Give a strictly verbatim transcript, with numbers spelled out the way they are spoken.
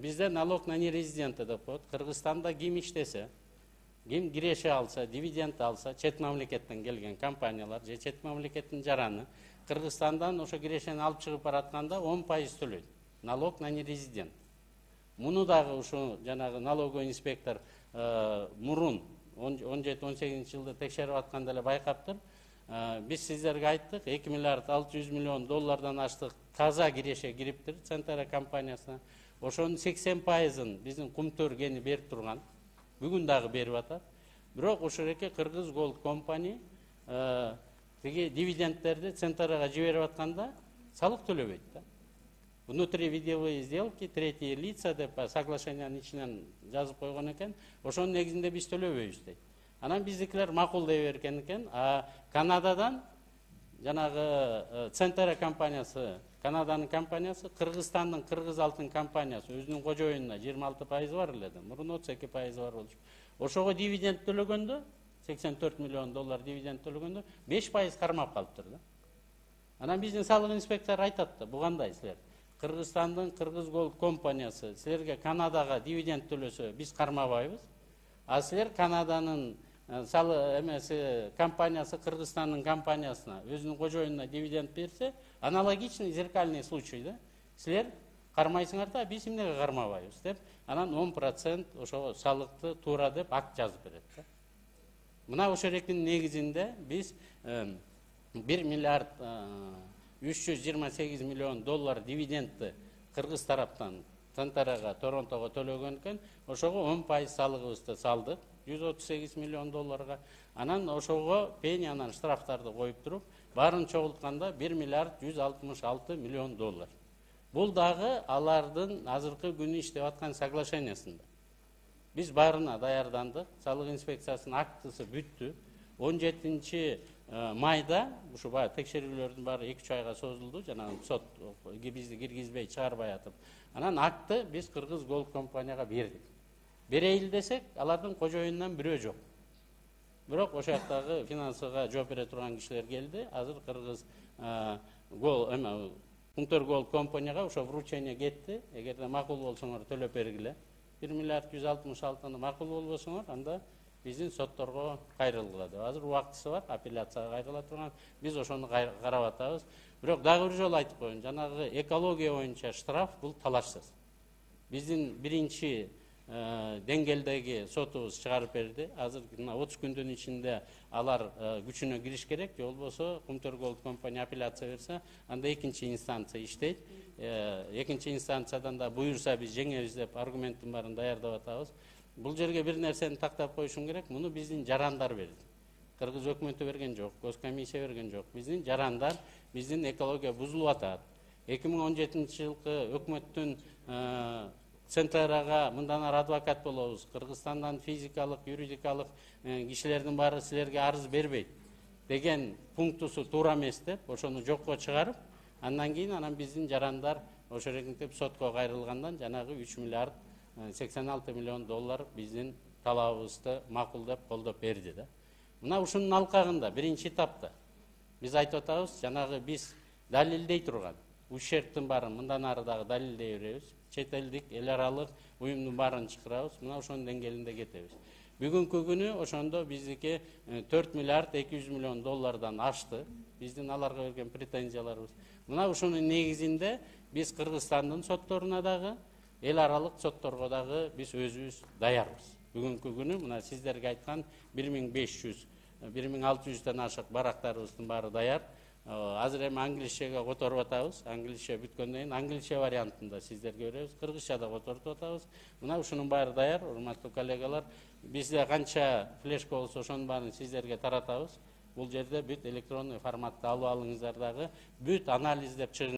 бизде налог на нерезидента деп коет. Кыргызстанда ким иштесе, ким киреше алса, дивиденд алса, чет мамлекеттен келген компаниялар же чет мамлекеттин жараны Кыргызстандан ошо кирешени алып чыгып баратканда он пайыз төлөйт. Налог на нерезидент. Муну дагы ушу жанагы налоговый инспектор мурун он жети он сегизинчи жылда текшерип атканда эле байкаптыр. Биз сиздерге айттык, эки миллиард алты жүз миллион доллардан аштык таза киреше кириптир Центара компаниясына. Ошонун сексен пайызын биздин Кумтөр кени берип турган. Бүгүн дагы берип атат. Бирок ошол эки Кыргыз Голд компани тиги дивидендтерди Центрага жиберип атканда салык төлөбөйт да. Внутривидовые сделки, третьи лица деп соглашениянын ичинен жазып койгон экен. Ошонун негизинде биз төлөбөйбүз дейт. Анан биздикилер макулдай берген экен. А Канададан жанагы Центра компаниясы, Канаданын компаниясы, Кыргызстандын Кыргыз алтын компаниясы өзүнүн кожоюнуна жыйырма алты пайыз бар эле да. Мурун отуз эки пайыз бар болчу. Ошого дивиденд төлөгөндө, сексен төрт миллион доллар дивиденд төлөгөндө беш пайыз кармап калыптыр да. Анан биздин салык инспектору айтат да, бу кандай силер? Кыргызстандын Кыргыз Голд компаниясы силерге Канадага дивиденд төлөсө биз кармабайбыз. А силер Канаданын салы эмеси компаниясы Кыргызстандын компаниясына өзүнүн кожоюнуна дивиденд берсе, аналогичный зеркальный случай да. Силер кармайсыңар да, биз эмнеге кармабайбыз деп, анан он процент ошо салыкты туура деп акт жазып берет да. Мына ошол экинин негизинде биз бир миллиард үч жүз жыйырма сегиз миллион доллар дивидендти Кыргыз тараптан Центрага, Торонтого төлөгөн экен. Ошого он пайыз салыгыбызды салдык, жүз отуз сегиз миллион долларга. Анан ошого пенянан штрафтарды коюп туруп, баарын чогултканда бир миллиард жүз алтымыш алты миллион доллар. Бул дагы алардын азыркы күнү иштеп аткан соглашениясында. Биз баарына даярдандык, салык инспекциясынын актысы бүттү. он жетинчи майда ушу баа текшерүүлөрдүн баары эки үч айга созулду, жанагы сот бизди киргизбей чыгарбай атып. Анан акты биз Кыргыз Голд компанияга бердик. Берейли десек, алардын кожоюнунан бирөө жок. Бирок ошол жактагы финансыга жооп бере турган кишилер келди. Азыр Кыргыз Голд эме Кумтөр Голд компанияга ошо вручение кетти. Эгерде макул болсоңор төлөп бергиле. бир миллиард жүз алтымыш алтыны макул болбосоңор, анда биздин сотторго кайрылгыла деп. Азыр убактысы бар, апелляцияга кайрыла турган. Биз ошону карап атабыз. Бирок дагы бир жолу айтып коеюн, жанагы экология боюнча штраф бул талашсыз. Биздин биринчи деңгээлдеги сотубуз чыгарып берди. Азыр мына отуз күндүн ичинде алар күчүнө кириш керек, же болбосо Кумтөр Голд компания апелляция берсе, анда экинчи инстанция иштейт. Экинчи инстанциядан да буюрса биз жеңебиз деп аргументтин баарын даярдап атабыз. Бул жерге бир нерсени тактап коюшум керек. Муну биздин жарандар берди. Кыргыз өкмөтү берген жок, госкомиссия берген жок. Биздин жарандар, биздин экология бузулуп атат. эки миң он жетинчи жылкы өкмөттүн Центрага мындан ары адвокат болобуз. Кыргызстандан физикалык, юридикалык кишилердин баары силерге арыз бербейт деген пунктусу туура эмес деп, ошону жокко чыгарып, андан кийин анан биздин жарандар ошо регентип сотко кайрылгандан жанагы үч миллиард сексен алты миллион доллар биздин талабыбызды макулдап колдоп берди да. Мына ушунун алкагында биринчи этапта биз айтып атабыз, жанагы биз далилдей турган ущербтин баарын мындан ары дагы далилдей беребиз. Чет элдик, эл аралык уюмдун баарын чакырабыз. Мына ошонун деңгээлинде кетебиз. Бүгүнкү күнү ошондо биздики төрт миллиард эки жүз миллион доллардан ашты. Биздин аларга берген претензияларыбыз. Мына ушунун негизинде биз Кыргызстандын сотторуна дагы, эл аралык сотторго дагы биз өзүбүз даярбыз. Бүгүнкү күнү мына сиздерге айткан бир миң беш жүз, бир миң алты жүздөн ашык барактарыбыздын баары даяр. Азыр эми англисчеге которуп атабыз. Англисче бүткөндөн кийин англисче вариантында сиздерге беребиз. Кыргызча да которуп атабыз. Мына ушунун баары даяр, урматтуу коллегалар. Бизде канча флешка болсо ошонун баарын сиздерге таратабыз. Бул жерде бүт электронный форматта алып алыңыздар дагы, бүт анализдеп чыгың.